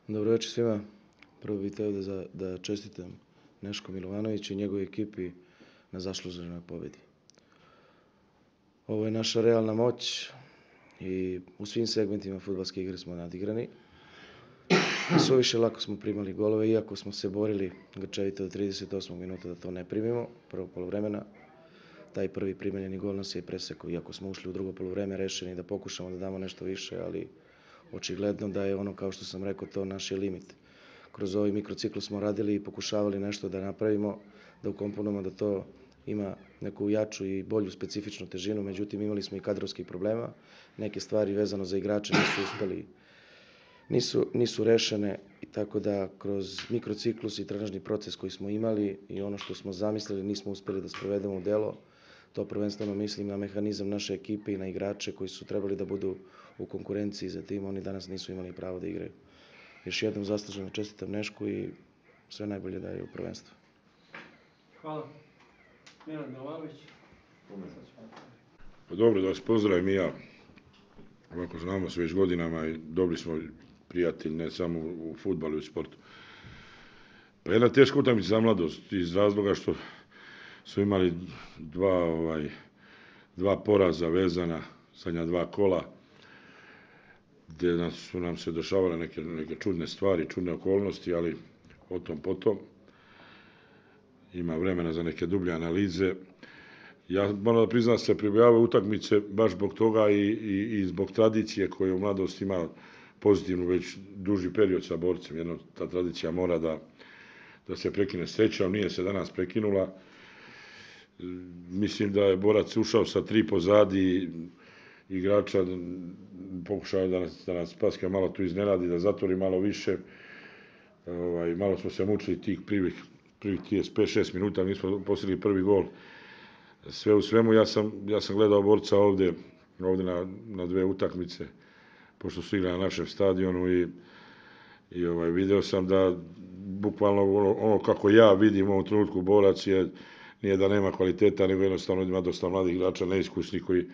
Dobro večer svima. Prvo bih htio da čestitam Nešku Milovanoviću i njegovoj ekipi na zasluženoj pobjedi. Ovo je naša realna moć i u svim segmentima fudbalske igre smo nadigrani. Suviše lako smo primali golove, iako smo se borili grčevito do 38. minuta da to ne primimo, prvog poluvremena. Taj prvi primeljeni gol nas je presekao, iako smo ušli u drugo poluvreme rešeni da pokušamo da damo nešto više, ali očigledno da je ono, kao što sam rekao, to naš je limit. Kroz ovaj mikrocikl smo radili i pokušavali nešto da napravimo, da ukomponujemo da to ima neku jaču i bolju specifičnu težinu, međutim imali smo i kadrovskih problema. Neke stvari vezano za igrače nisu uspeli, nisu rešene, tako da kroz mikrociklus i trenažni proces koji smo imali i ono što smo zamislili nismo uspeli da sprovedemo u delo. To prvenstveno mislim na mehanizam naše ekipe i na igrače koji su trebali da budu u konkurenciji za tim, oni danas nisu imali pravo da igraju. Još jednom zasluženo čestitam Nešku i sve najbolje daje u prvenstvu. Hvala. Nenad Milovanović. Pa dobro, da vas pozdravim i ja. Ovako znamo se već godinama i dobri smo prijatelji, ne samo u fudbalu i u sportu. Pa jedna teška utakmica za mladost iz razloga što su imali dva poraza vezana, zadnja dva kola, gdje su nam se dešavale neke čudne stvari, čudne okolnosti, ali o tom potom. Ima vremena za neke dublje analize. Ja moram da priznam da se pribojavaju utakmice baš zbog toga i zbog tradicije koju u mladosti ima pozitivnu već duži period sa borcem. Jedno, ta tradicija mora da se prekine srećom, nije se danas prekinula. Mislim da je borac ušao sa 3 pozadi igrača, pokušao da nas Paske malo tu iznenadi, da zatvori malo više. Malo smo se mučili tih prvih 35-6 minuta, nismo postigli prvi gol. Sve u svemu, ja sam gledao borca ovdje na 2 utakmice, pošto su igrali na našem stadionu i video sam da bukvalno ono kako ja vidim u ovom trenutku borac nije da nema kvaliteta, nego jednostavno ima dosta mladih igrača, neiskusnih koji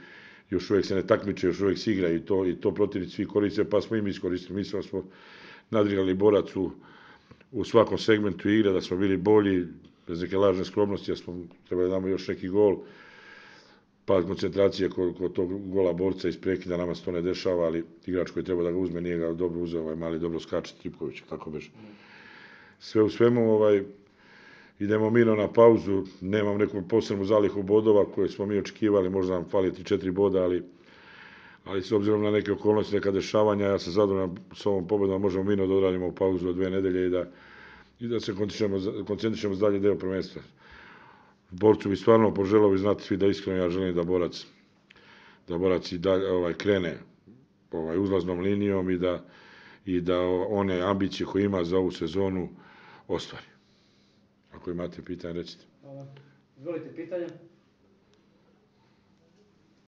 još uvijek se ne takmiče, još uvijek se igraju i to protivnici svi koriste, pa smo i mi iskoristili. Mislim da smo nadrigali borac u svakom segmentu igre, da smo bili bolji, bez neke lažne skromnosti, da smo trebali da damo još neki gol. Pad koncentracije kod tog gola borca iz prekida, nama se to ne dešava, ali igrač koji treba da ga uzme, nije ga dobro uzeo, mali dobro skače, Tripković, tako beže. Sve u svemu, idemo mirno na pauzu, nemam neku posebnu zalihu bodova koje smo mi očekivali, možda nam fali 3-4 boda, ali s obzirom na neke okolnosti, neka dešavanja, ja sam zadovoljan s ovom pobedom, možemo mirno da odradimo pauzu od 2 nedelje i da se koncentrišemo za dalje deo prvenstva. Borcu bi stvarno poželao, vi znate svi da iskreno ja želim da borac i dalje krene uzlaznom linijom i da one ambicije koje ima za ovu sezonu ostvari. Ako imate pitanje, recite. Hvala. Izvolite pitanje.